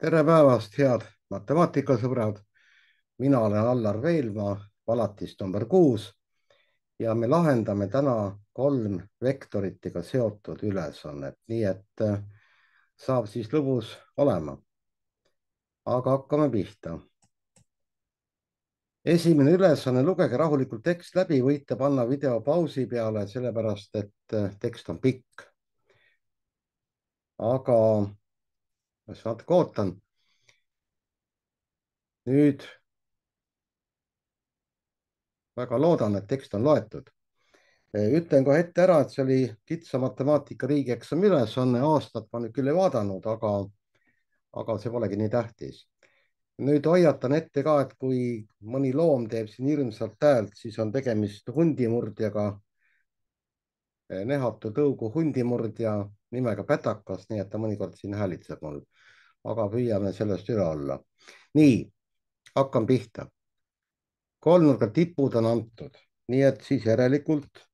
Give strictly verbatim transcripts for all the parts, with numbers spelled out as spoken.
tere päevast, head matemaatikasõbrad. Mina olen Allar Veelmaa, palatist number kuus ja me lahendame täna kolm vektoritega seotud ülesannet, nii et äh, saab siis lõbus olema. Aga hakkame pihta. Esimene ülesanne, lugege rahulikult tekst läbi, võite panna video pausi peale, sellepärast et äh, tekst on pikk. Aga ma natuke ootan. Nüüd väga loodan, et tekst on loetud. Ütlen kohe ette ära, et see oli kitsa matemaatika riigieksami ülesanne, aastat ma nüüd küll ei vaadanud, aga, aga see polegi nii tähtis. Nüüd hoiatan ette ka, et kui mõni loom teeb siin hirmsalt häält, siis on tegemist hundimurdjaga, nehatu tõugu hundimurdja nimega Pätakas, nii et ta mõnikord siin häälitseb mul. Aga püüame sellest üle olla. Nii, hakkan pihta. Kolmnurga tipud on antud, nii et siis järelikult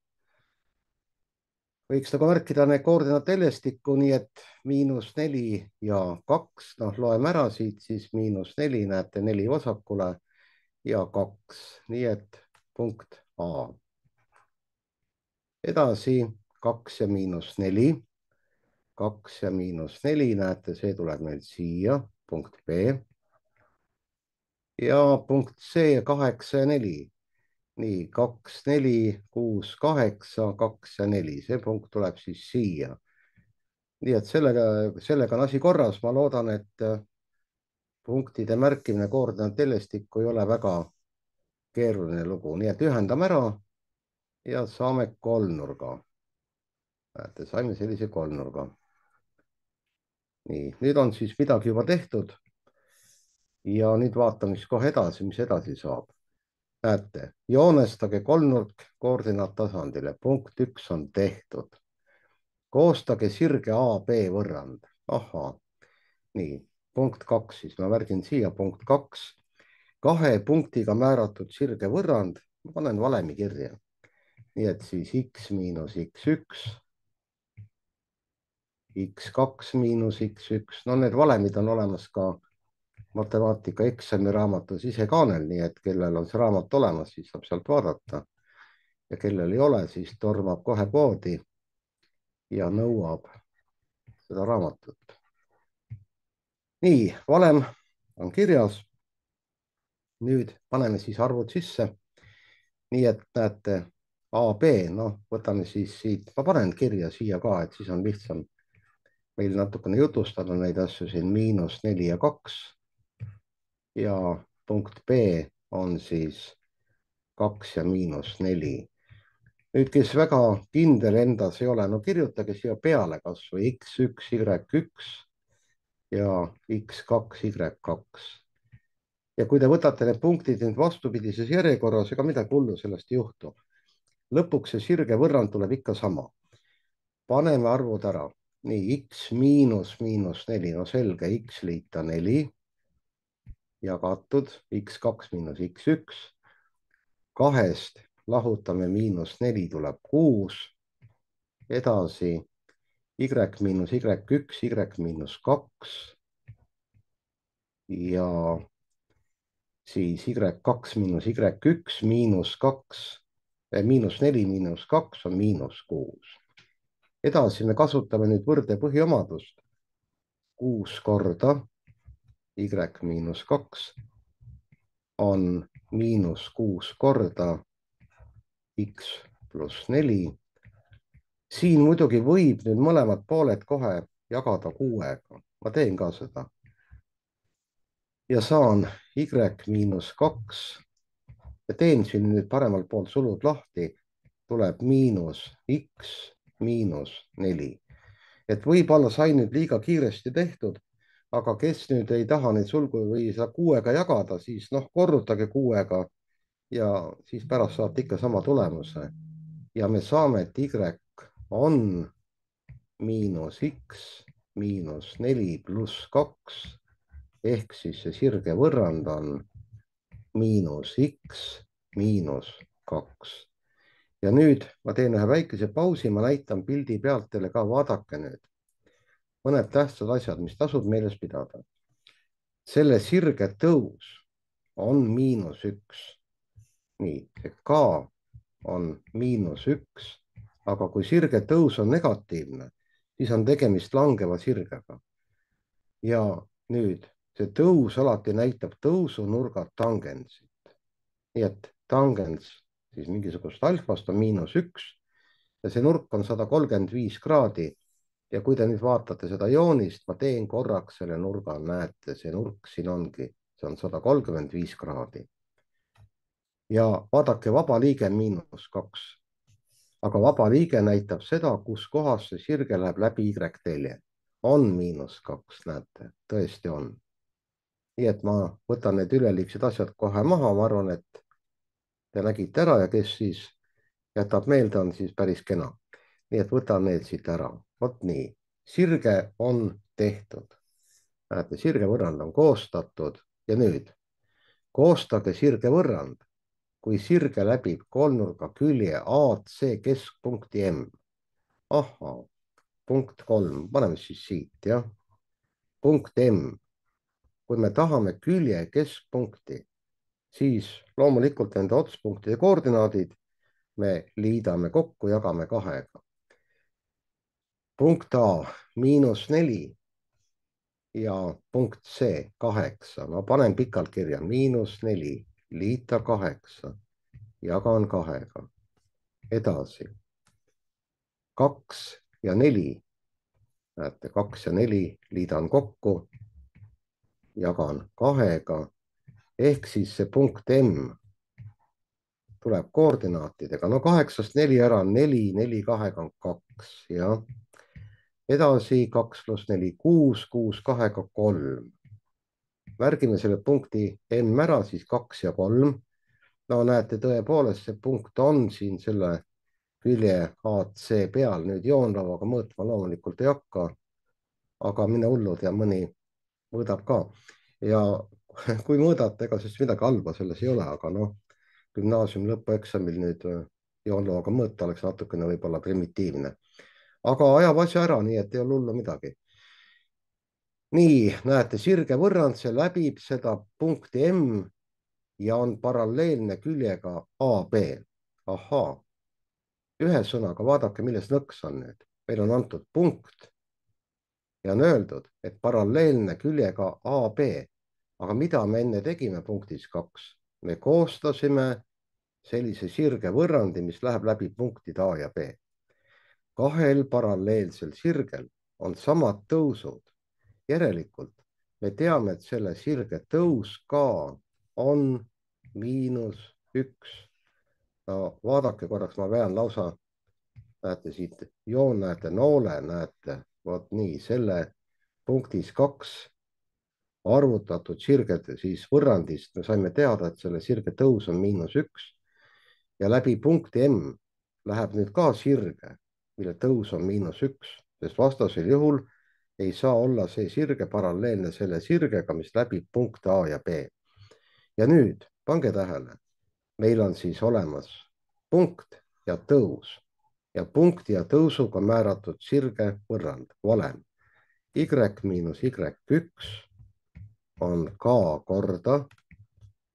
võiks nagu märkida need koordinaat teljestikku, nii et miinus neli ja kaks, noh, loeme ära siit, siis miinus neli, näete neli vasakule ja kaks, nii et punkt A. Edasi kaks ja miinus neli, kaks ja miinus neli, näete, see tuleb meil siia, punkt B. Ja punkt C, kaheksa ja neli. Nii, kaks, neli, kuus, kaheksa, kaks ja neli, see punkt tuleb siis siia. Nii et sellega, sellega on asi korras. Ma loodan, et punktide märkimine koordinaat teljestikku ei ole väga keeruline lugu. Nii et ühendame ära ja saame kolmnurga. Näete, saime sellise kolmnurga. Nii, nüüd on siis midagi juba tehtud. Ja nüüd vaatame siis kohe edasi, mis edasi saab. Näete, joonestage kolmnurk koordinaat tasandile. Punkt üks on tehtud. Koostage sirge A B võrrand. Ahaa. Nii, punkt kaks, siis ma märgin siia punkt kaks. Kahe punktiga määratud sirge võrrand. Ma panen valemi kirja. Nii et siis X miinus X üks. X kaks miinus X üks. No need valemid on olemas ka matemaatika eksami raamatus ise kaanel, nii et kellel on see raamat olemas, siis saab sealt vaadata. Ja kellel ei ole, siis tormab kohe poodi ja nõuab seda raamatut. Nii, valem on kirjas. Nüüd paneme siis arvud sisse. Nii et näete A B, noh, võtame siis siit, ma panen kirja siia ka, et siis on lihtsam meil natukene jutustada neid asju siin miinus neli ja kaks. Ja punkt B on siis kaks ja miinus neli. Nüüd, kes väga kindel endas ei ole, no kirjutage siia peale kas või X üks, Y üks ja X kaks, Y kaks. Ja kui te võtate need punktid nüüd vastupidises järjekorras, ega midagi hullu sellest ei juhtu. Lõpuks see sirge võrrand tuleb ikka sama. Paneme arvud ära. Nii, X miinus miinus neli, no selge, X liita neli. Jagatud X kaks miinus X üks. Kahest lahutame miinus neli tuleb kuus. Edasi Y miinus Y üks, Y miinus kaks. Ja siis Y kaks miinus Y üks miinus kaks. Miinus neli miinus kaks on miinus kuus. Edasi me kasutame nüüd võrde põhiomadust. kuus korda Y miinus kaks on miinus kuus korda X pluss neli. Siin muidugi võib nüüd mõlemad pooled kohe jagada kuuega. Ma teen ka seda. Ja saan Y miinus kaks. Ja teen siin nüüd paremal pool sulud lahti. Tuleb miinus X miinus neli. Et võib-olla sai nüüd liiga kiiresti tehtud. Aga kes nüüd ei taha neid sulgu või seda kuuega jagada, siis noh, korrutage kuuega ja siis pärast saate ikka sama tulemuse. Ja me saame, et Y on miinus X miinus neli pluss kaks ehk siis see sirge võrrand on miinus X miinus kaks. Ja nüüd ma teen ühe väikese pausi, ma näitan pildi pealt teile ka, vaadake nüüd. Mõned tähtsad asjad, mis tasub meeles pidada. selle sirge tõus on miinus üks. nii, see K on miinus üks, aga kui sirge tõus on negatiivne, siis on tegemist langeva sirgega. ja nüüd see tõus alati näitab tõusunurga tangentsit. nii et tangens siis mingisugust alfast on miinus üks ja see nurk on sada kolmkümmend viis kraadi. ja kui te nüüd vaatate seda joonist, ma teen korraks selle nurga, näete, see nurk siin ongi, see on sada kolmkümmend viis kraadi. ja vaadake, vaba liige miinus kaks. aga vaba liige näitab seda, kus kohas see sirge läheb läbi Y-telje. on miinus kaks, näete, tõesti on. nii et ma võtan need üleliigsed asjad kohe maha, ma arvan, et te nägite ära ja kes siis jätab meelde, on siis päris kena. nii et võtan need siit ära. vot nii, sirge on tehtud. näete, sirgevõrrand on koostatud ja nüüd koostage sirgevõrrand, kui sirge läbib kolmnurga külje A C keskpunkti M. ahhaa, punkt kolm, paneme siis siit, jah. punkt M. kui me tahame külje keskpunkti, siis loomulikult nende otspunktide koordinaadid me liidame kokku, jagame kahega. punkt A miinus neli ja punkt C kaheksa. ma panen pikalt kirja, miinus neli, liita kaheksa, jagan kahega. edasi, kaks ja neli. näete, kaks ja neli liidan kokku, jagan kahega. ehk siis see punkt M tuleb koordinaatidega. no kaheksast neli ära on neli, neli kahega on kaks, jah. edasi kaks pluss neli, kuus, kuus kahega kolm. märgime selle punkti M ära, siis kaks ja kolm. no näete, tõepoolest see punkt on siin selle külje A C peal. nüüd joonlauaga mõõtma loomulikult ei hakka, aga mine hullu, ja mõni mõõdab ka. ja kui mõõdate, ega siis midagi halba selles ei ole, aga noh, gümnaasiumi lõpueksamil nüüd joonlauaga mõõta oleks natukene võib-olla primitiivne. aga ajab asja ära, nii et ei ole hullu midagi. nii, näete, sirge võrrand, see läbib seda punkti M ja on paralleelne küljega A B. ahhaa. ühesõnaga, vaadake, milles nõks on nüüd. meil on antud punkt ja on öeldud, et paralleelne küljega A B. aga mida me enne tegime punktis kaks? me koostasime sellise sirge võrrandi, mis läheb läbi punktid A ja B. kahel paralleelsel sirgel on samad tõusud. järelikult me teame, et selle sirge tõus ka on miinus üks. no vaadake korraks, ma vean lausa, näete siit joon, näete noole, näete, vot nii, selle punktis kaks arvutatud sirgede siis võrrandist me saime teada, et selle sirge tõus on miinus üks ja läbi punkti M läheb nüüd ka sirge, mille tõus on miinus üks, sest vastasel juhul ei saa olla see sirge paralleelne selle sirgega, mis läbib punkte A ja B. ja nüüd pange tähele, meil on siis olemas punkt ja tõus ja punkti ja tõusuga määratud sirge võrrand, valem. Y miinus Y üks on K korda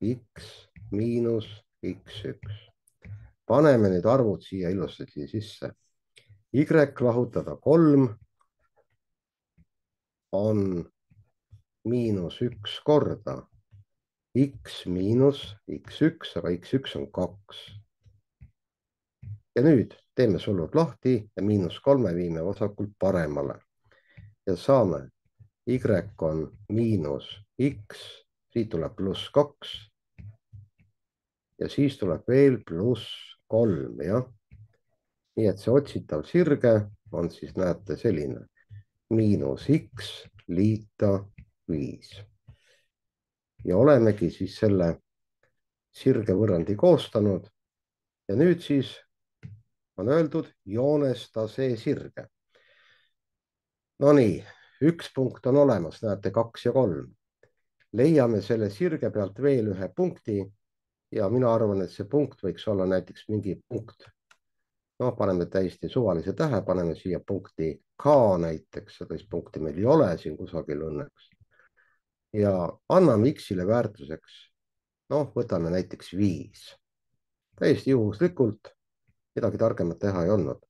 X miinus X üks. paneme nüüd arvud siia ilusasti sisse. Y lahutada kolm on miinus üks korda X miinus X üks, aga X üks on kaks. ja nüüd teeme sulud lahti ja miinus kolme viime vasakult paremale. ja saame, Y on miinus X, siit tuleb pluss kaks. ja siis tuleb veel pluss kolm, jah. nii et see otsitav sirge on siis, näete, selline. miinus X liita viis. ja olemegi siis selle sirge võrrandi koostanud. ja nüüd siis on öeldud, joonesta see sirge. Nonii, üks punkt on olemas, näete, kaks ja kolm. leiame selle sirge pealt veel ühe punkti ja mina arvan, et see punkt võiks olla näiteks mingi punkt. noh, paneme täiesti suvalise tähe, paneme siia punkti K näiteks, sellist punkti meil ei ole siin kusagil õnneks. ja anname X-ile väärtuseks, noh, võtame näiteks viis. täiesti juhuslikult, midagi targemat teha ei olnud.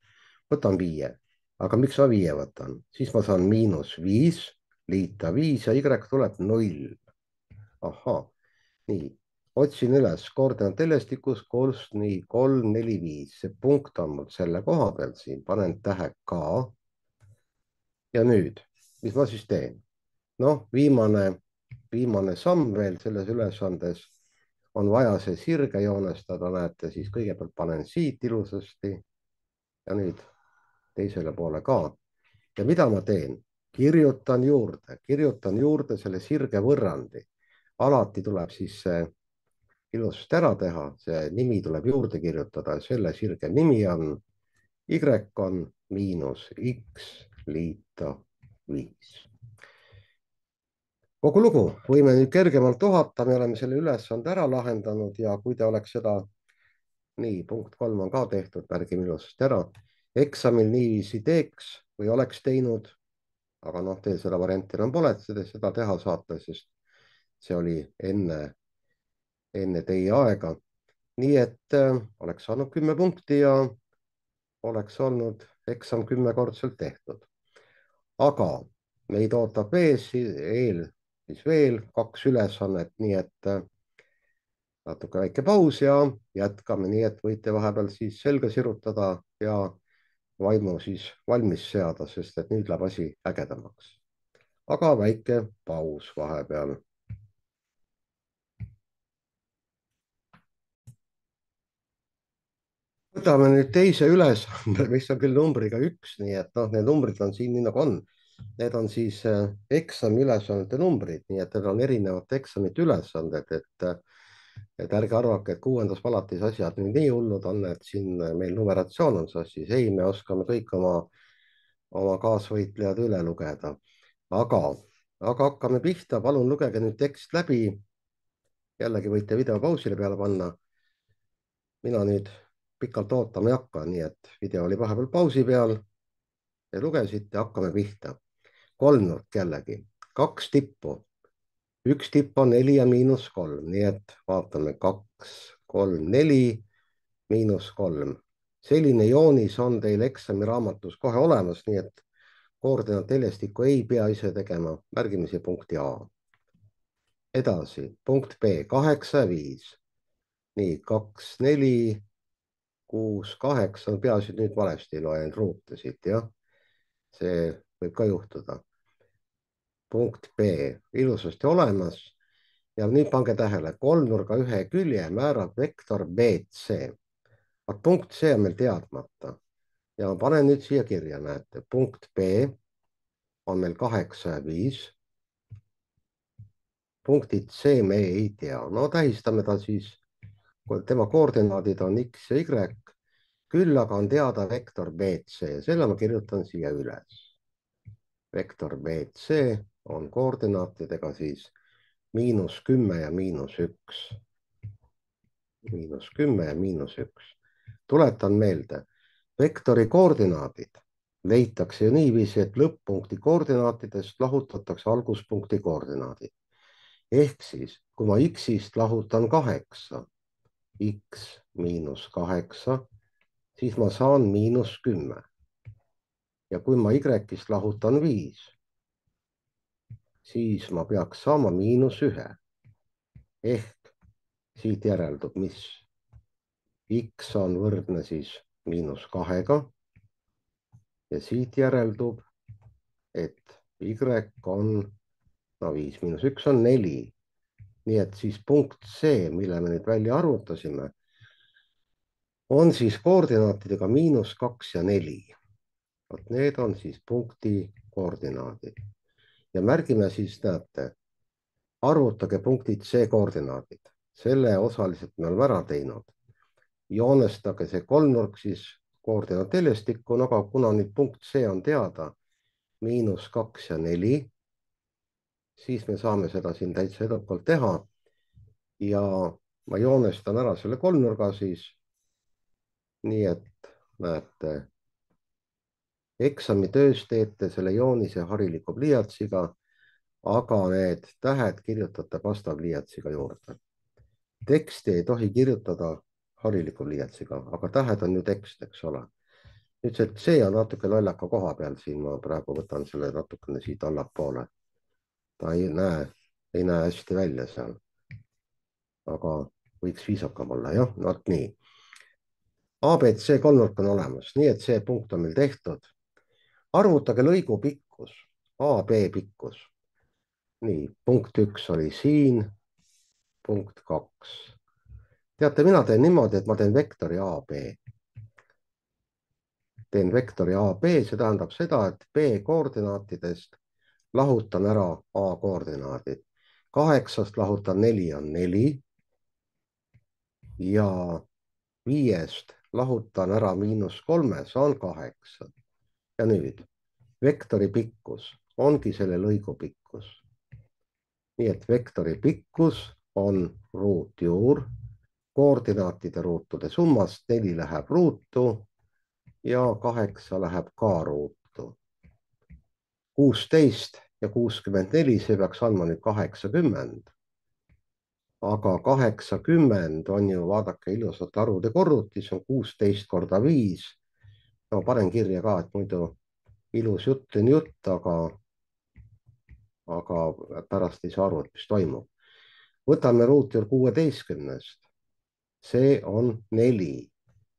võtan viie, aga miks ma viie võtan, siis ma saan miinus viis liita viis ja Y tuleb null. ahhaa, nii, otsin üles koordinaat telestikus, kus nii kolm, neli, viis, see punkt on mul selle koha peal siin, panen tähe K. ja nüüd, mis ma siis teen? noh, viimane, viimane samm veel selles ülesandes on vaja see sirge joonestada, näete, siis kõigepealt panen siit ilusasti ja nüüd teisele poole ka. ja mida ma teen? kirjutan juurde, kirjutan juurde selle sirge võrrandi. alati tuleb siis see ilusasti ära teha, see nimi tuleb juurde kirjutada, selle sirge nimi on Y on miinus X liita viis. kogu lugu, võime nüüd kergemalt ohata, me oleme selle ülesande ära lahendanud ja kui te oleks seda, nii, punkt kolm on ka tehtud, märgime ilusasti ära, eksamil niiviisi teeks või oleks teinud, aga noh, teil seda varianti enam pole, et te seda teha saate, sest see oli enne, enne teie aega. nii et äh, oleks saanud kümme punkti ja oleks olnud eksam kümnekordselt tehtud. aga meid ootab ees eel siis veel kaks ülesannet, nii et äh, natuke väike paus ja jätkame, nii et võite vahepeal siis selga sirutada ja vaimu siis valmis seada, sest et nüüd läheb asi ägedamaks. aga väike paus vahepeal. võtame nüüd teise ülesande, mis on küll numbriga üks, nii et noh, need numbrid on siin nii nagu on. Need on siis äh, eksami ülesannete numbrid, nii et need on erinevate eksamite ülesanded, et äh, et ärge arvake, et kuuendas palatis asjad nüüd nii hullud on, et siin meil numeratsioon on sassis. ei, me oskame kõik oma, oma kaasvõitlejad üle lugeda. aga, aga hakkame pihta, palun lugege nüüd tekst läbi. jällegi võite video pausile peale panna. mina nüüd pikalt ootama ei hakka, nii et video oli vahepeal pausi peal. Te lugesite, hakkame pihta. kolmnurk jällegi, kaks tippu. üks tipp on neli ja miinus kolm, nii et vaatame kaks, kolm, neli, miinus kolm. selline joonis on teil eksamiraamatus kohe olemas, nii et koordinaateljestikku ei pea ise tegema, märgime siia punkti A. edasi, punkt B, kaheksa ja viis. nii, kaks, neli, kuus, kaheksa, peaasi, et nüüd valesti loen ruute siit, jah. see võib ka juhtuda. punkt B, ilusasti olemas. ja nüüd pange tähele, kolmnurga ühe külje määrab vektor B C. punkt C on meil teadmata ja ma panen nüüd siia kirja, näete, punkt B on meil kaheksa ja viis. punktid C me ei tea, no tähistame ta siis, tema koordinaadid on X ja Y, küll aga on teada vektor B C, selle ma kirjutan siia üles. vektor B C on koordinaatidega siis miinus kümme ja miinus üks. miinus kümme ja miinus üks. tuletan meelde, vektori koordinaadid leitakse ju niiviisi, et lõpp-punkti koordinaatidest lahutatakse alguspunkti koordinaadid. ehk siis, kui ma X-ist lahutan kaheksa, X miinus kaheksa, siis ma saan miinus kümme. ja kui ma Y-ist lahutan viis, siis ma peaks saama miinus ühe. ehk siit järeldub, mis X on võrdne siis miinus kahega. ja siit järeldub, et Y on, no viis miinus üks on neli. nii et siis punkt C, mille me nüüd välja arvutasime, on siis koordinaatidega miinus kaks ja neli. vot need on siis punkti koordinaadid. ja märgime siis, näete, arvutage punktid C koordinaadid. selle osaliselt me oleme ära teinud. joonestage see kolmnurk siis koordinaateljestikku, aga kuna nüüd punkt C on teada, miinus kaks ja neli, siis me saame seda siin täitsa edukalt teha. ja ma joonestan ära selle kolmnurga siis. nii et näete, eksamitöös teete selle joonise hariliku pliiatsiga. aga need tähed kirjutate pastapliiatsiga juurde. Teksti ei tohi kirjutada hariliku pliiatsiga, aga tähed on ju tekst, eks ole. nüüd see C on natuke lollaka koha peal siin, ma praegu võtan selle natukene siit allapoole. ta ei näe, ei näe hästi välja seal. aga võiks viisakam olla, jah, vot nii. A, B, C kolmnurk on olemas, nii et see punkt on meil tehtud. arvutage lõigu pikkus, A, B pikkus. nii, punkt üks oli siin, punkt kaks. teate, mina teen niimoodi, et ma teen vektori A, B. teen vektori A, B, see tähendab seda, et B koordinaatidest lahutan ära A koordinaadid. kaheksast lahutan neli on neli ja viiest lahutan ära miinus kolme, saan kaheksa. ja nüüd vektori pikkus ongi selle lõigu pikkus. nii et vektori pikkus on ruutjuur koordinaatide ruutude summast, neli läheb ruutu ja kaheksa läheb ka ruutu. kuusteist ja kuuskümmend neli, see peaks andma nüüd kaheksakümmend. aga kaheksakümmend on ju, vaadake, ilusate arvude korrutis on kuusteist korda viis. no panen kirja ka, et muidu ilus jutt on jutt, aga, aga pärast ei saa aru, et mis toimub. võtame ruutjuur kuueteistkümnest. see on neli.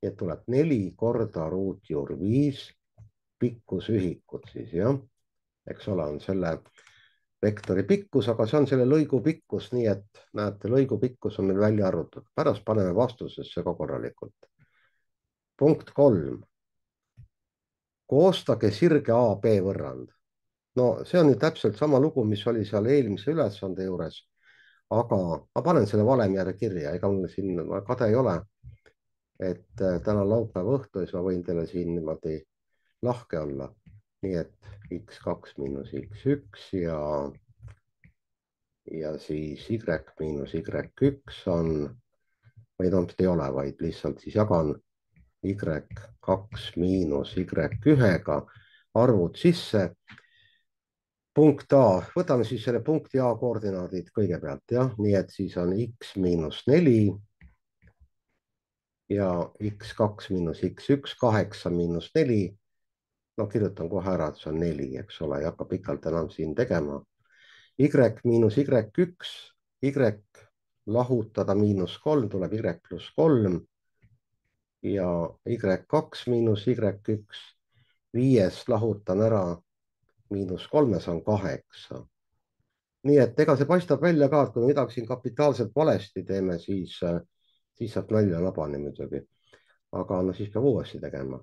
nii et tuleb neli korda ruutjuur viis pikkusühikut siis, jah. eks ole, on selle vektori pikkus, aga see on selle lõigu pikkus, nii et näete, lõigu pikkus on meil välja arvutatud. pärast paneme vastusesse ka korralikult. punkt kolm. koostage sirge A B võrrand. no see on nüüd täpselt sama lugu, mis oli seal eelmise ülesande juures, aga ma panen selle valemi järgi kirja, ega mul siin kade ei ole, et täna laupäeva õhtu, siis ma võin teile siin niimoodi lahke olla. nii et X kaks miinus X üks ja ja siis Y miinus Y üks on, või noh, ei ole, vaid lihtsalt siis jagan Y kaks miinus Y ühega arvud sisse. punkt A, võtame siis selle punkti A koordinaadid kõigepealt, jah, nii et siis on X miinus neli ja X kaks miinus X üks, kaheksa miinus neli. no kirjutan kohe ära, et see on neli, eks ole, ei hakka pikalt enam siin tegema. Y miinus Y üks, Y lahutada miinus kolm tuleb Y pluss kolm ja Y kaks miinus Y üks, viiest lahutan ära miinus kolmes on kaheksa. nii et ega see paistab välja ka, et kui me midagi siin kapitaalselt valesti teeme, siis, siis saab nalja nabani muidugi. aga no siis peab uuesti tegema.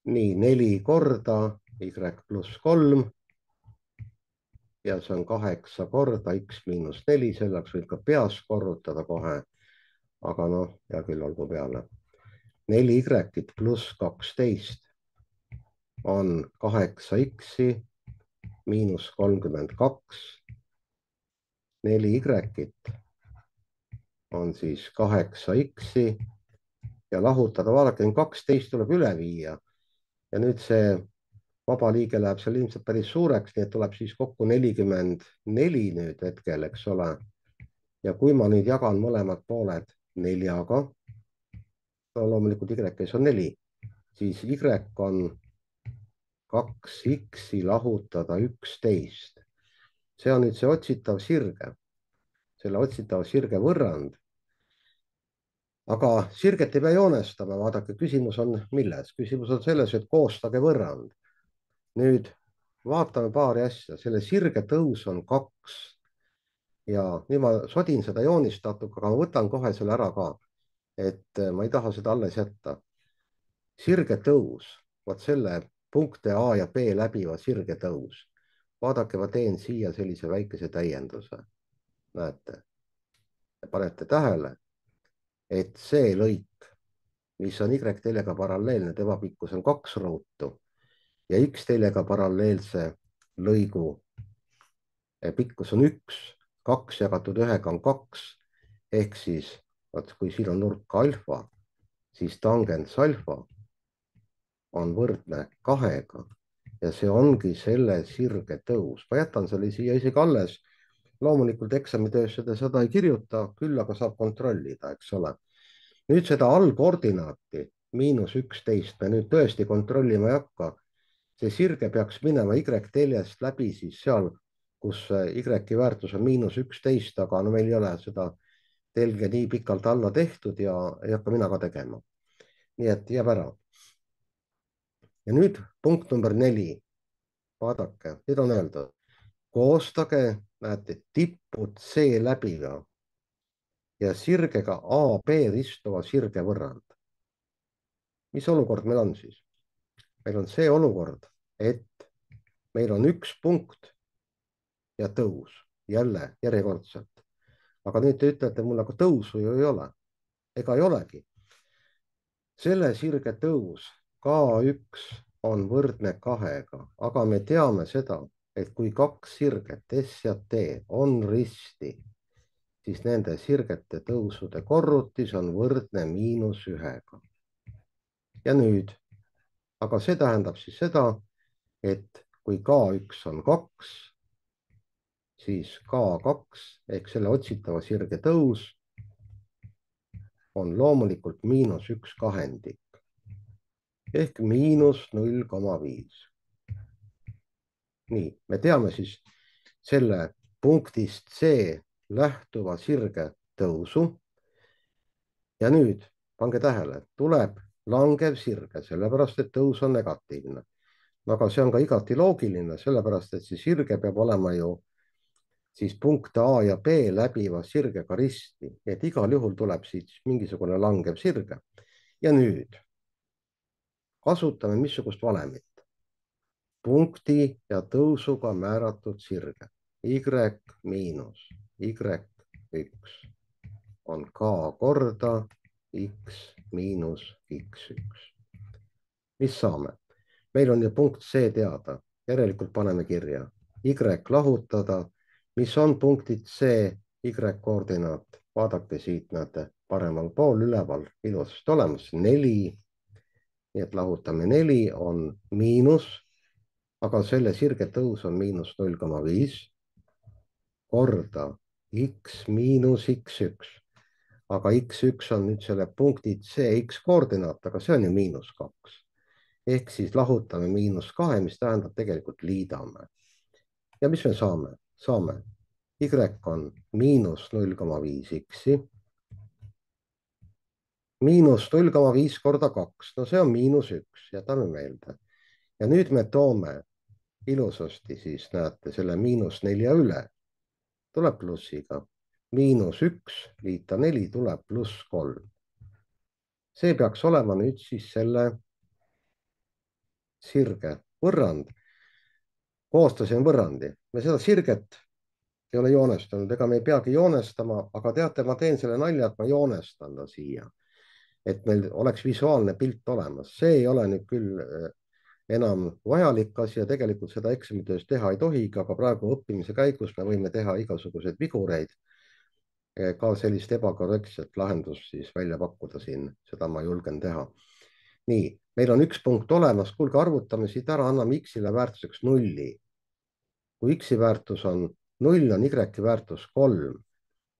nii, neli korda Y pluss kolm ja see on kaheksa korda X miinus neli, selleks võib ka peas korrutada kohe. aga noh, hea küll, olgu peale. neli Y-t pluss kaksteist on kaheksa X-i miinus kolmkümmend kaks. neli Y-t on siis kaheksa X-i ja lahutada, vaadake, kaksteist tuleb üle viia. ja nüüd see vaba liige läheb seal ilmselt päris suureks, nii et tuleb siis kokku nelikümmend neli nüüd hetkel, eks ole. ja kui ma nüüd jagan mõlemad pooled neljaga, no loomulikult Y-s on neli, siis Y on kaks X-i lahutada üksteist. see on nüüd see otsitav sirge, selle otsitava sirge võrrand. aga sirget ei pea joonestama, vaadake, küsimus on milles? küsimus on selles, et koostage võrrand. nüüd vaatame paari asja, selle sirge tõus on kaks ja nüüd ma sodin seda joonistatud, aga ma võtan kohe selle ära ka, et ma ei taha seda alles jätta. sirge tõus, vot selle punkte A ja B läbiva sirge tõus. vaadake, ma teen siia sellise väikese täienduse. näete, panete tähele, et see lõik, mis on Y-teljega paralleelne, tema pikkus on kaks ruutu ja X-teljega paralleelse lõigu pikkus on üks, kaks jagatud ühega on kaks, ehk siis, vaat kui siin on nurk alfa, siis tangens alfa on võrdne kahega ja see ongi selle sirge tõus. ma jätan selle siia isegi alles. loomulikult eksamitöös seda, seda ei kirjuta, küll aga saab kontrollida, eks ole. nüüd seda allkoordinaati, miinus üksteist, me nüüd tõesti kontrollima ei hakka. see sirge peaks minema Y-teljest läbi siis seal, kus Y-i väärtus on miinus üksteist, aga no meil ei ole seda telge nii pikalt alla tehtud ja ei hakka mina ka tegema. nii et jääb ära. ja nüüd punkt number neli. vaadake, nüüd on öeldud, koostage, näete, tipud C läbiga ja sirgega A B ristuva sirgevõrrand. mis olukord meil on siis? meil on see olukord, et meil on üks punkt ja tõus, jälle järjekordselt. aga nüüd te ütlete mulle, aga tõusu ju ei ole. ega ei olegi. selle sirge tõus K üks on võrdne kahega, aga me teame seda, et kui kaks sirget S ja T on risti, siis nende sirgete tõusude korrutis on võrdne miinus ühega. ja nüüd, aga see tähendab siis seda, et kui K üks on kaks, siis K kaks ehk selle otsitava sirge tõus on loomulikult miinus üks kahendik ehk miinus null koma viis. nii, me teame siis selle punktist C lähtuva sirge tõusu. ja nüüd pange tähele, tuleb langev sirge, sellepärast et tõus on negatiivne. aga see on ka igati loogiline, sellepärast et see sirge peab olema ju siis punkte A ja B läbiva sirgega risti, et igal juhul tuleb siit mingisugune langev sirge. ja nüüd kasutame missugust valemit? punkti ja tõusuga määratud sirge Y miinus Y üks on K korda X miinus X üks. mis saame? meil on ju punkt C teada, järelikult paneme kirja Y lahutada, mis on punktid C, Y koordinaat. vaadake siit, näete paremal pool üleval ilusasti olemas, neli. nii et lahutame neli on miinus, aga selle sirge tõus on miinus null koma viis korda X miinus X üks. aga X üks on nüüd selle punkti C X koordinaat, aga see on ju miinus kaks. ehk siis lahutame miinus kahe, mis tähendab tegelikult liidame. ja mis me saame? saame Y on miinus null koma viis X-i. miinus null koma viis korda kaks, no see on miinus üks, jätame meelde. ja nüüd me toome ilusasti siis, näete, selle miinus nelja üle. tuleb plussiga. miinus üks liita neli tuleb pluss kolm. see peaks olema nüüd siis selle sirge võrrand. koostasin võrrandi. me seda sirget ei ole joonestanud, ega me ei peagi joonestama, aga teate, ma teen selle nalja, et ma joonestan ta siia. et meil oleks visuaalne pilt olemas. see ei ole nüüd küll enam vajalik asi ja tegelikult seda eksamitöös teha ei tohigi, aga praegu õppimise käigus me võime teha igasuguseid vigureid. ka sellist ebakorrektset lahendust siis välja pakkuda siin, seda ma julgen teha. nii, meil on üks punkt olemas, kuulge, arvutame siit ära, anname X-ile väärtuseks nulli. kui X-i väärtus on null, on Y-i väärtus kolm.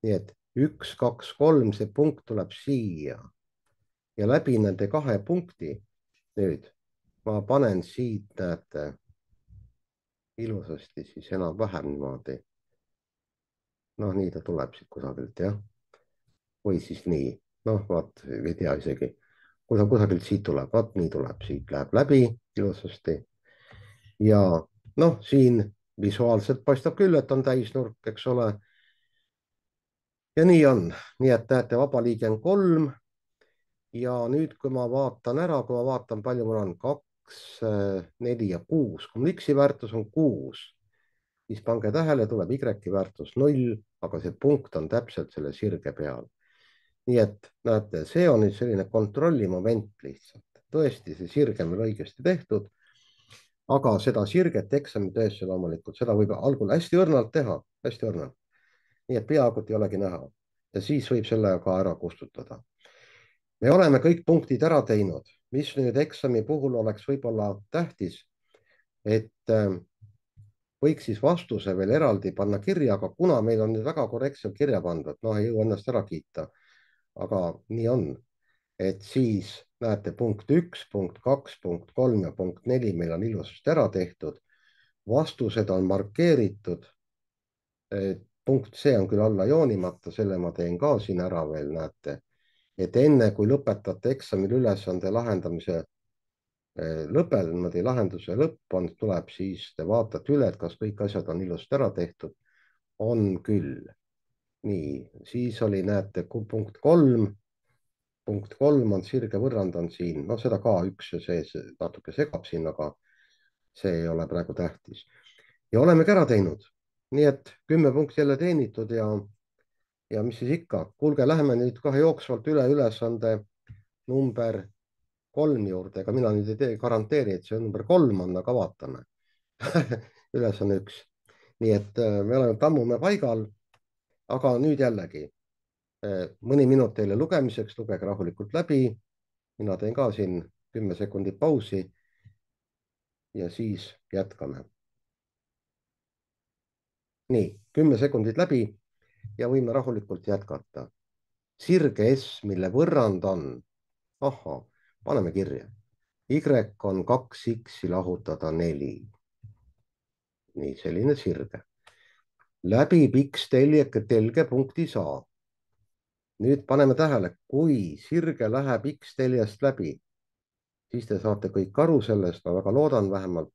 nii et üks, kaks, kolm, see punkt tuleb siia. ja läbi nende kahe punkti nüüd ma panen siit, näete, ilusasti siis enam-vähem niimoodi. noh, nii ta tuleb siit kusagilt, jah. või siis nii, noh, vaat, ei tea isegi, kuidas kusagilt siit tuleb, vaat nii tuleb, siit läheb läbi ilusasti. ja noh, siin visuaalselt paistab küll, et on täisnurk, eks ole. ja nii on, nii et näete, vaba liige on kolm. ja nüüd, kui ma vaatan ära, kui ma vaatan, palju mul on, kaks, neli ja kuus, kui mul X-i väärtus on kuus, siis pange tähele, tuleb Y-i väärtus null, aga see punkt on täpselt selle sirge peal. nii et näete, see on nüüd selline kontrollimoment lihtsalt. tõesti, see sirge on meil õigesti tehtud, aga seda sirget eksamitöösse loomulikult, seda võib algul hästi õrnalt teha, hästi õrnalt. nii et peaaegu ei olegi näha ja siis võib selle ka ära kustutada. me oleme kõik punktid ära teinud, mis nüüd eksami puhul oleks võib-olla tähtis, et äh, võiks siis vastuse veel eraldi panna kirja, aga kuna meil on nüüd väga korrektselt kirja pandud, noh, ei jõua ennast ära kiita, aga nii on, et siis näete, punkt üks, punkt kaks, punkt kolm ja punkt neli meil on ilusasti ära tehtud. Vastused on markeeritud. punkt C on küll alla joonimata, selle ma teen ka siin ära veel, näete, et enne kui lõpetate eksamil ülesande lahendamise lõpel, niimoodi lahenduse lõpp on, tuleb siis, te vaatate üle, et kas kõik asjad on ilusti ära tehtud. on küll. nii, siis oli, näete, punkt kolm. punkt kolm on sirge võrrand on siin, no seda ka üks ja see natuke segab siin, aga see ei ole praegu tähtis. ja olemegi ära teinud. nii et kümme punkti jälle teenitud ja, ja mis siis ikka, kuulge, läheme nüüd kohe jooksvalt üle ülesande number kolm juurde, ega mina nüüd ei tee, garanteeri, et see number kolm on, aga vaatame ülesanne üks. nii et me oleme tammume paigal, aga nüüd jällegi mõni minut teile lugemiseks, lugege rahulikult läbi. mina teen ka siin kümme sekundit pausi ja siis jätkame. nii, kümme sekundit läbi ja võime rahulikult jätkata. sirge S, mille võrrand on, ahhaa, paneme kirja. Y on kaks X-i lahutada neli. nii, selline sirge. läbib X telje, telge punktis A. nüüd paneme tähele, kui sirge läheb X teljest läbi, siis te saate kõik aru sellest, ma väga loodan vähemalt,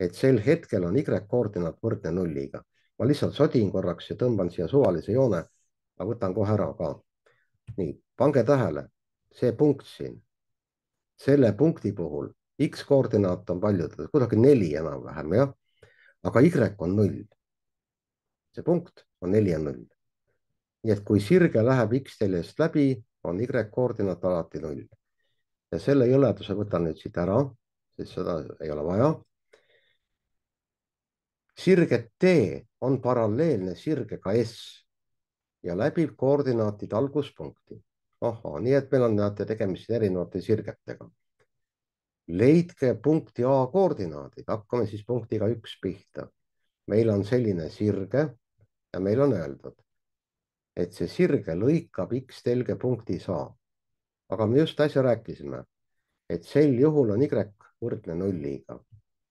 et sel hetkel on Y koordinaat võrdne nulliga. ma lihtsalt sodin korraks ja tõmban siia suvalise joone, ma võtan kohe ära ka. nii, pange tähele, see punkt siin, selle punkti puhul X koordinaat on palju, kuidagi neli enam-vähem, jah, aga Y on null. see punkt on neli ja null. nii et kui sirge läheb X teljest läbi, on Y koordinaat alati null. ja selle jõleduse võtan nüüd siit ära, sest seda ei ole vaja. sirge T on paralleelne sirgega S ja läbib koordinaatide alguspunkti. ahhaa, nii et meil on, näete, tegemist erinevate sirgetega. leidke punkti A koordinaadid, hakkame siis punktiga üks pihta. meil on selline sirge ja meil on öeldud, et see sirge lõikab X telge punktis A. aga me just äsja rääkisime, et sel juhul on Y võrdne nulliga.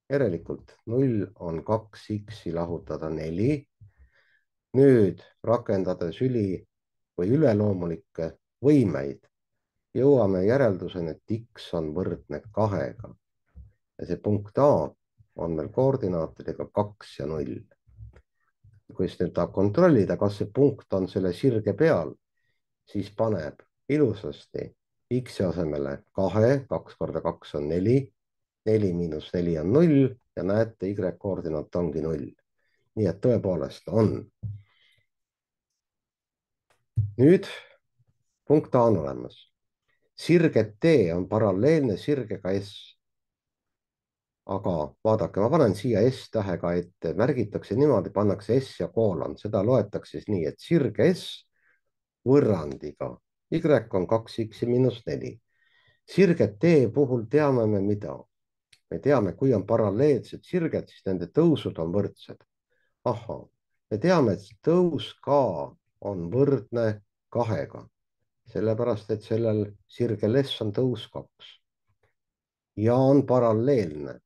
järelikult null on kaks X-i lahutada neli. nüüd rakendades üli või üleloomulikke võimeid, jõuame järelduseni, et X on võrdne kahega. ja see punkt A on meil koordinaatidega kaks ja null. kui siis nüüd tahab kontrollida, kas see punkt on selle sirge peal, siis paneb ilusasti X asemele kahe, kaks korda kaks on neli, neli miinus neli on null ja näete, Y koordinaat ongi null. nii et tõepoolest on. nüüd punkt A on olemas. sirge T on paralleelne sirgega S. aga vaadake, ma panen siia S-tähega ette, märgitakse niimoodi, pannakse S ja koolon, seda loetakse siis nii, et sirge S võrrandiga Y on kaks X miinus neli. sirge T puhul teame me mida? me teame, kui on paralleelsed sirged, siis nende tõusud on võrdsed. ahhaa, me teame, et tõus K on võrdne kahega, sellepärast et sellel sirgel S on tõus kaks. ja on paralleelne,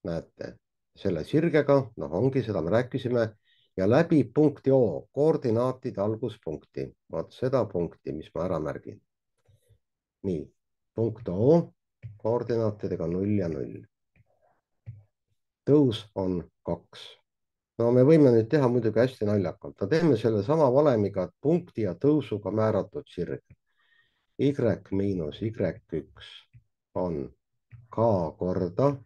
näete, selle sirgega, noh ongi, seda me rääkisime, ja läbib punkti O, koordinaatide alguspunkti. vaat seda punkti, mis ma ära märgin. nii, punkt O, koordinaatidega null ja null. tõus on kaks. no me võime nüüd teha muidugi hästi naljakalt. no teeme selle sama valemiga, et punkti ja tõusuga määratud sirg. Y miinus Y üks on K korda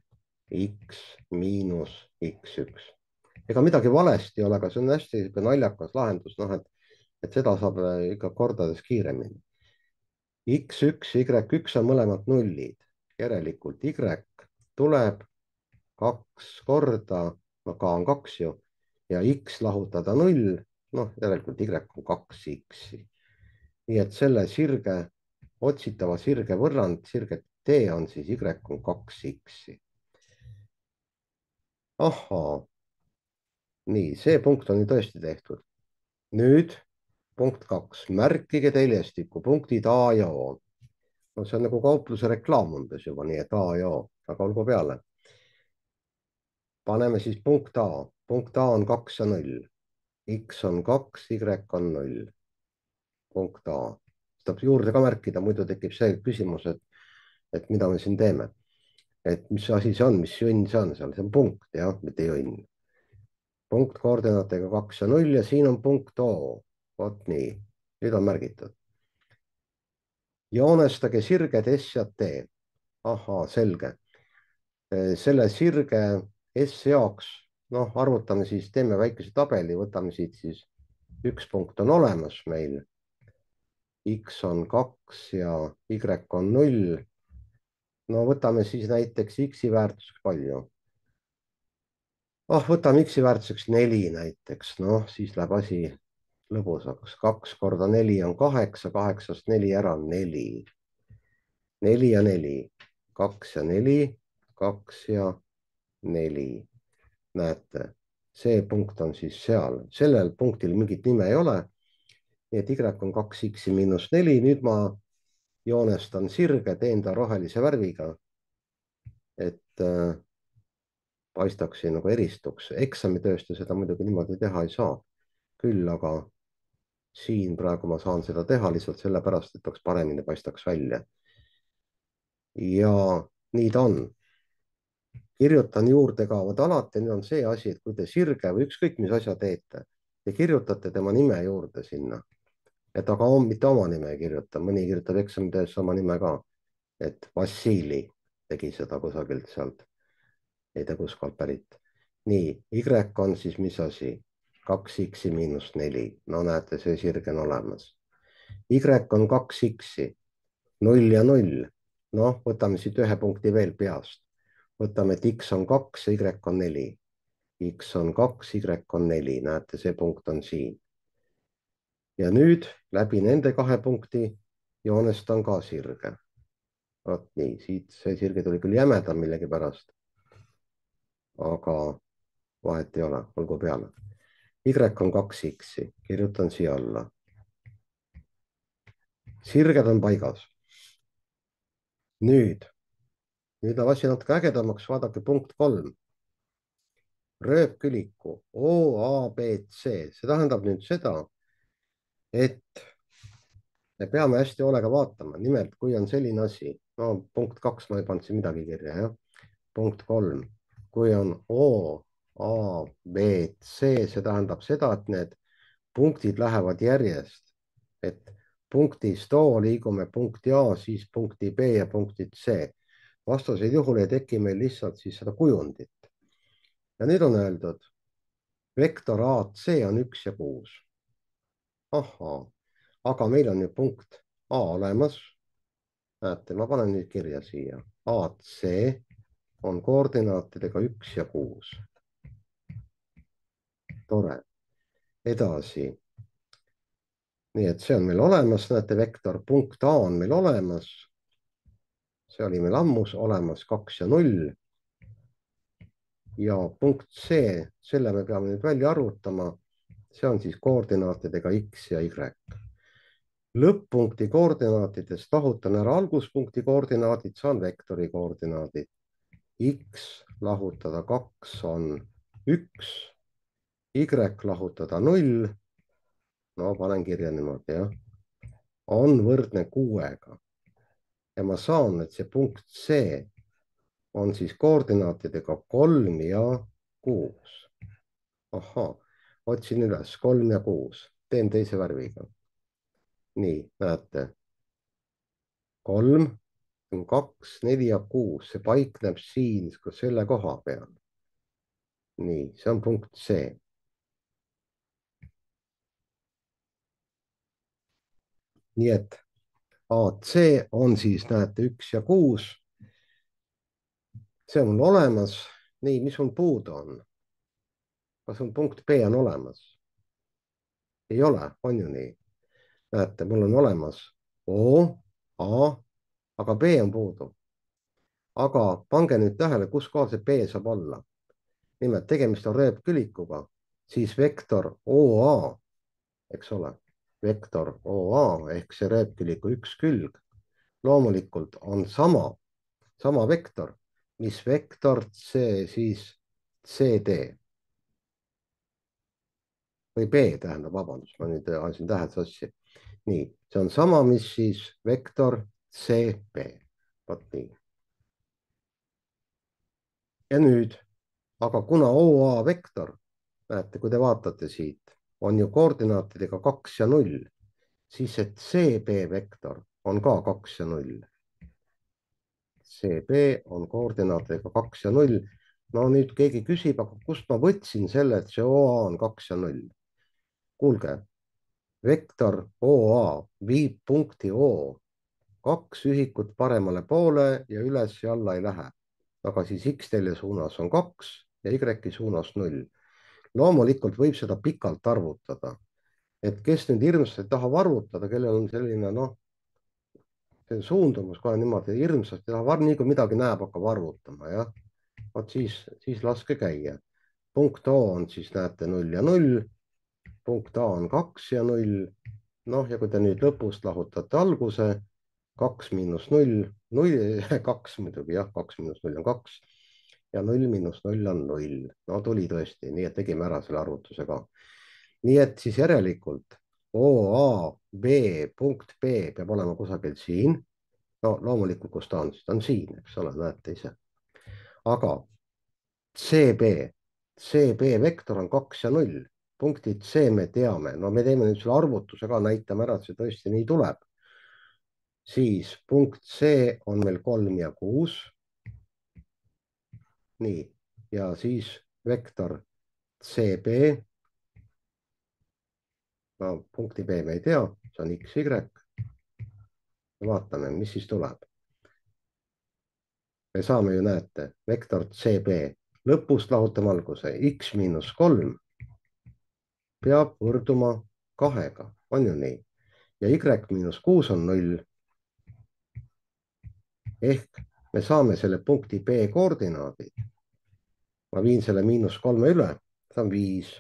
X miinus X üks. ega midagi valesti ei ole, aga see on hästi naljakas lahendus, noh, et, et seda saab ikka kordades kiiremini. X üks ja Y üks on mõlemad nullid, järelikult Y tuleb kaks korda, no K on kaks ju, ja X lahutada null, noh, järelikult Y on kaks X-i. nii et selle sirge, otsitava sirge võrrand, sirge T on siis Y on kaks X-i. ahhaa, nii, see punkt on ju tõesti tehtud. nüüd punkt kaks, märkige teljestikku punktid A ja O. No see on nagu kaupluse reklaam umbes juba, nii et A ja O, aga olgu peale. paneme siis punkt A, punkt A on kaks ja null. X on kaks, Y on null. punkt A. tuleb juurde ka märkida, muidu tekib see küsimus, et, et mida me siin teeme. et mis asi see on, mis jõnn see on seal, see on punkt jah, mitte jõnn. punkt koordinaatidega kaks ja null ja siin on punkt O. vot nii, nüüd on märgitud. joonestage sirged S ja T. ahhaa, selge. selle sirge S jaoks, noh, arvutame siis, teeme väikese tabeli, võtame siit siis üks punkt on olemas meil. X on kaks ja Y on null. no võtame siis näiteks X-i väärtuseks palju. oh, võtame X-i väärtuseks neli näiteks, noh, siis läheb asi lõbusaks. kaks korda neli on kaheksa, kaheksast neli ära on neli. neli ja neli, kaks ja neli, kaks ja neli. näete, see punkt on siis seal, sellel punktil mingit nime ei ole. nii et Y on kaks X miinus neli, nüüd ma joonestan sirge, teen ta rohelise värviga, et äh, paistaks siin nagu eristuks. eksamitööst seda muidugi niimoodi teha ei saa. küll aga siin praegu ma saan seda teha lihtsalt sellepärast, et oleks paremini paistaks välja. ja nii ta on. kirjutan juurde ka, vot alati nüüd on see asi, et kui te sirge või ükskõik mis asja teete, te kirjutate tema nime juurde sinna. et aga on, mitte oma nime ei kirjuta, mõni kirjutab eksamitöös oma nime ka. et Vassili tegi seda kusagilt sealt, ei tea kuskohalt pärit. nii, Y on siis mis asi? kaks X miinus neli, no näete, see sirge on olemas. Y on kaks X, null ja null. noh, võtame siit ühe punkti veel peast. võtame, et X on kaks ja Y on neli. X on kaks, Y on neli, näete, see punkt on siin. ja nüüd läbi nende kahe punkti joonestan ka sirge. vot nii, siit see sirge tuli küll jämedam millegipärast. aga vahet ei ole, olgu peale. Y on kaks X, kirjutan siia alla. sirged on paigas. nüüd, nüüd on asi natuke ägedamaks, vaadake punkt kolm. rööpküliku O, A, B, C, see tähendab nüüd seda, et me peame hästi hoolega vaatama, nimelt kui on selline asi, no punkt kaks, ma ei pannud siin midagi kirja, jah. punkt kolm, kui on O, A, B, C, see tähendab seda, et need punktid lähevad järjest, et punktist O liigume punkti A, siis punkti B ja punkti C. vastasel juhul ei teki meil lihtsalt siis seda kujundit. ja nüüd on öeldud, vektor A C on üks ja kuus. ahhaa, aga meil on ju punkt A olemas. näete, ma panen nüüd kirja siia. A C on koordinaatidega üks ja kuus. tore. edasi. nii et see on meil olemas, näete, vektor punkt A on meil olemas. see oli meil ammus olemas, kaks ja null. ja punkt C, selle me peame nüüd välja arvutama. see on siis koordinaatidega X ja Y. lõpp-punkti koordinaatidest lahutan ära alguspunkti koordinaadid, saan vektori koordinaadid. X lahutada kaks on üks, Y lahutada null. no panen kirja niimoodi, jah. on võrdne kuuega. ja ma saan, et see punkt C on siis koordinaatidega kolm ja kuus. ahhaa, otsin üles kolm ja kuus, teen teise värviga. nii, näete. kolm, kaks, neli ja kuus, see paikneb siin selle koha peal. nii, see on punkt C. nii et A C on siis, näete, üks ja kuus. see on mul olemas. nii, mis mul puudu on? kas on punkt B on olemas? ei ole, on ju nii? näete, mul on olemas O, A, aga B on puudu. aga pange nüüd tähele, kus kohal see B saab olla. nimelt tegemist on rööpkülikuga, siis vektor O A, eks ole, vektor O A ehk see rööpküliku üks külg loomulikult on sama, sama vektor, mis vektor C siis C D või B tähendab, vabandust, ma nüüd ajasin tähed sassi. nii, see on sama, mis siis vektor C B. vot nii. ja nüüd, aga kuna O A vektor, näete, kui te vaatate siit, on ju koordinaatidega kaks ja null, siis see C B vektor on ka kaks ja null. C B on koordinaatidega kaks ja null. no nüüd keegi küsib, aga kust ma võtsin selle, et see O A on kaks ja null? kuulge, vektor O A viib punkti O kaks ühikut paremale poole ja üles ja alla ei lähe. aga siis X-telje suunas on kaks ja Y suunas null. loomulikult võib seda pikalt arvutada, et kes nüüd hirmsasti tahab arvutada, kellel on selline noh, see suundumus kohe niimoodi hirmsasti tahab, nii kui midagi näeb, hakkab arvutama, jah. vot siis, siis laske käia. punkt O on siis näete null ja null, punkt A on kaks ja null. noh, ja kui te nüüd lõpust lahutate alguse, kaks miinus null, null, kaks muidugi jah, kaks miinus null on kaks ja null miinus null on null. no tuli tõesti, nii et tegime ära selle arvutuse ka. nii et siis järelikult O A B punkt B peab olema kusagil siin. no loomulikult, kus ta on, siis ta on siin, eks ole, näete ise. aga C B, C B vektor on kaks ja null. punktid C me teame, no me teeme nüüd selle arvutuse ka, näitame ära, et see tõesti nii tuleb. siis punkt C on meil kolm ja kuus. nii, ja siis vektor C B. no punkti B me ei tea, see on X, Y. vaatame, mis siis tuleb. me saame ju, näete, vektor C B lõpust lahutame alguse, X miinus kolm peab võrduma kahega, on ju nii? ja Y miinus kuus on null. ehk me saame selle punkti B koordinaadid. ma viin selle miinus kolme üle, see on viis.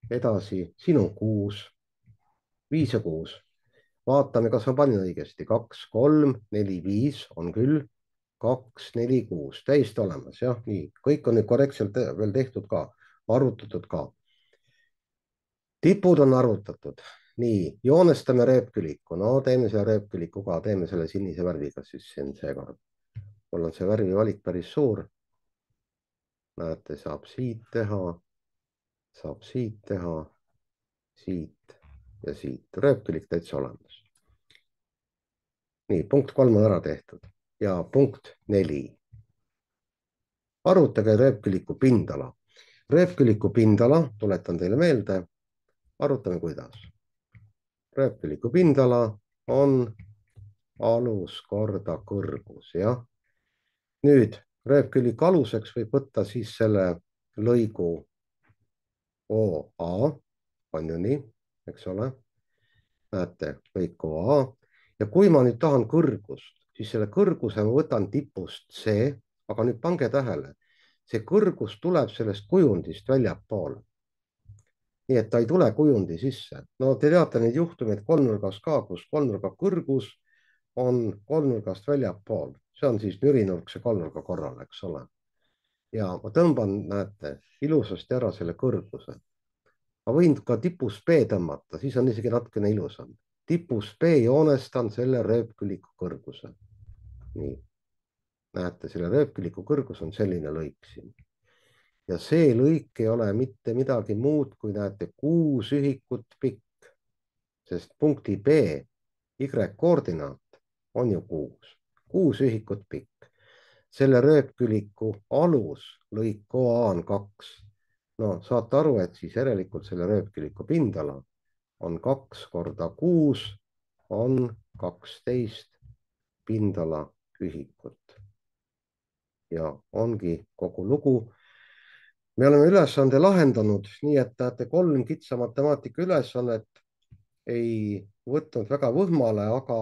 edasi, siin on kuus, viis ja kuus. vaatame, kas ma panin õigesti. kaks, kolm, neli, viis on küll. kaks, neli, kuus, täiesti olemas, jah, nii. kõik on nüüd korrektselt veel tehtud ka, arvutatud ka. tipud on arvutatud. nii, joonestame rööpküliku. no teeme selle rööpküliku ka, teeme selle sinise värviga siis siin seekord. mul on see värvivalik päris suur. näete, saab siit teha, saab siit teha, siit ja siit. rööpkülik täitsa olemas. nii, punkt kolm on ära tehtud ja punkt neli. arvutage rööpküliku pindala. rööpküliku pindala, tuletan teile meelde, arutame kuidas. rööpküliku pindala on alus korda kõrgus, jah. nüüd rööpküliku aluseks võib võtta siis selle lõigu O A, on ju nii, eks ole. näete, lõik O A. ja kui ma nüüd tahan kõrgust, siis selle kõrguse ma võtan tipust C, aga nüüd pange tähele, see kõrgus tuleb sellest kujundist väljapoole. nii et ta ei tule kujundi sisse. no te teate neid juhtumeid kolmnurgas ka, kus kolmnurga kõrgus on kolmnurgast väljapool. see on siis nürinurkse kolmnurga korral, eks ole. ja ma tõmban, näete, ilusasti ära selle kõrguse. ma võin ka tipus B tõmmata, siis on isegi natukene ilusam. tipus B joonestan selle rööpküliku kõrguse. nii, näete, selle rööpküliku kõrgus on selline lõik siin. ja see lõik ei ole mitte midagi muud, kui näete, kuus ühikut pikk, sest punkti B Y koordinaat on ju kuus, kuus ühikut pikk. selle rööpküliku alus lõik O A on kaks. no saate aru, et siis järelikult selle rööpküliku pindala on kaks korda kuus on kaksteist pindala ühikut. ja ongi kogu lugu. me oleme ülesande lahendanud, nii et näete, kolm kitsa matemaatika ülesannet ei võtnud väga võhmale, aga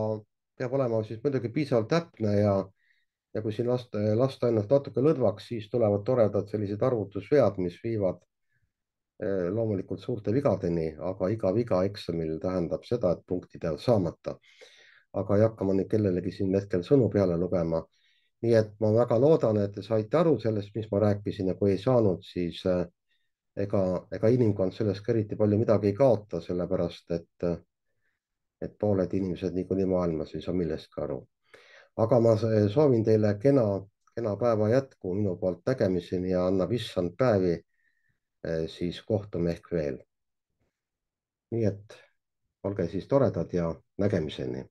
peab olema siis muidugi piisavalt täpne ja ja kui siin lasta, lasta ennast natuke lõdvaks, siis tulevad toredad sellised arvutusvead, mis viivad eh, loomulikult suurte vigadeni, aga iga viga eksamil tähendab seda, et punktid jäävad saamata. aga ei hakka ma nüüd kellelegi siin hetkel sõnu peale lugema. nii et ma väga loodan, et te saite aru sellest, mis ma rääkisin, ja kui ei saanud, siis eh, ega, ega inimkond sellest ka eriti palju midagi ei kaota, sellepärast et, et pooled inimesed niikuinii maailmas ei saa millestki aru. aga ma soovin teile kena, kena päeva jätku minu poolt nägemiseni ja annab issand päevi, eh, siis kohtume ehk veel. nii et olge siis toredad ja nägemiseni.